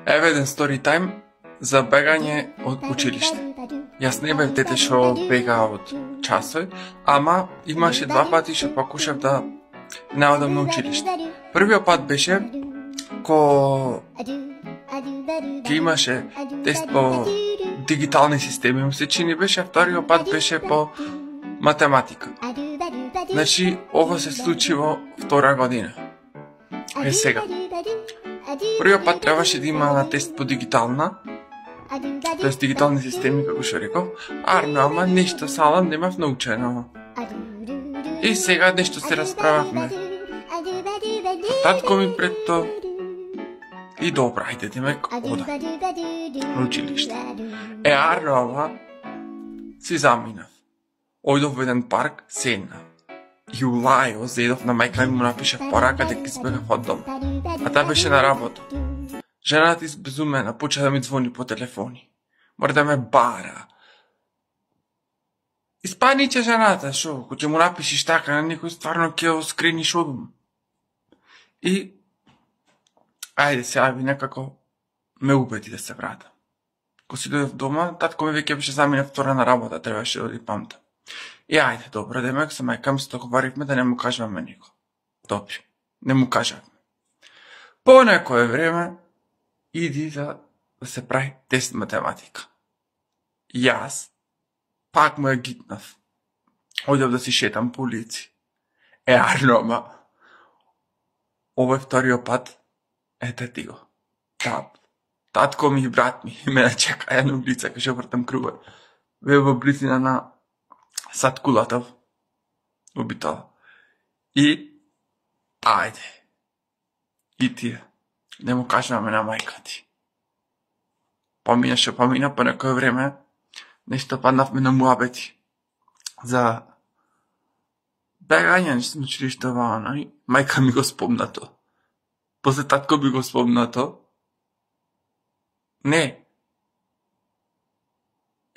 Еве еден стори тајм за бегање од училиште. Јас не бев дете што бега од часови, ама имаше два пати што покушав да не одам на училиште. Првиот пат беше ко имаше тест по дигитални системи, ми се чини беше, а вториот пат беше по математика. Значи, ова се случи во втора година. Е сега. Првиот пат требаше да има на тест по дигитална, тоест дигитални системи, како што реков, ама нешто салам немав научено. И сега нешто се расправавме. Татко ми пред то и добра, ајде демек одам на училиште. Ама си заминав. Ојдов во еден парк, седнав. И улајо, зедов на мајка ми му напишав порака дека избегав од дом. А таа беше на работа. Жената избезумена, почна да ми звони по телефони. Мора да ме бара. Испаниче жената, шо, ако ќе му напишиш така на некој, стварно ќе го скрениш од дом. И ајде сега ви некако ме убеди да се вратам. Ко си дојдов дома, татко ми веќе беше замина втора на работа, требаше да оди памта. И ајде, добро, демек со мајка ми се договаривме да не му кажуваме нико. Добри, не му кажавме. По некој време иди да се прави тест математика. Јас пак му ја гитнав. Ојдов да си шетам по улици. Ама овој вториот пат, ете ти го. Татко ми и брат ми ме чекаја на улица, кај што вртам круга. Ве во близина на Сад Кулатов, обитала. И ајде. И тие. Не му кажуваме на мајка ти. Помина што помина, по некој време нешто паднавме на муабети за бегање на училиште ваана и мајка ми го спомна то. После татко би го спомна то. Не.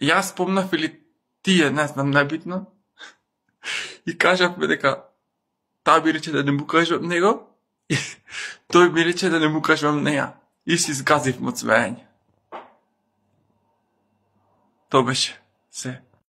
Јас спомнав или тие, не знам, небитно. И кажавме дека таа би рече да не му кажувам него и тој ми рече да не му кажувам неа. И си згазив од смеење. То беше се.